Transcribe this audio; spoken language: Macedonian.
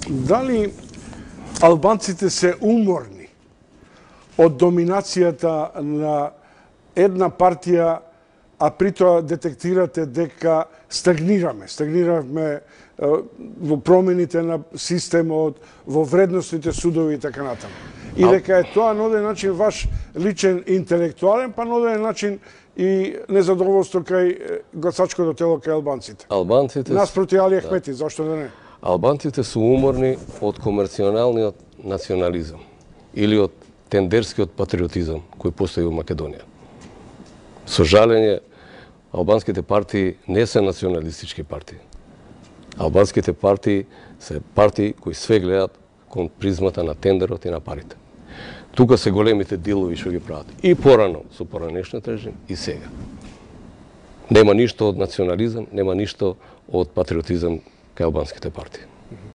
Дали албанците се уморни од доминацијата на една партија, а при тоа детектирате дека стагниравме во промените на системот, во вредностните судови и така натаму. И дека е тоа на оден начин ваш личен интелектуален, па на оден начин и незадоволство кај гласачкото тело кај албанците. Наспроти Али Ахмети, зашто да не? Албанците се уморни од комерционалниот национализам или од тендерскиот патриотизам кој постои во Македонија. Со жалење, албанските партии не се националистички партии. Албанските партии се партии кои све гледаат кон призмата на тендерот и на парите. Тука се големите дилови што ги прават. И порано со поранешниот режим и сега. Нема ништо од национализам, нема ништо од патриотизам кај албанските партии.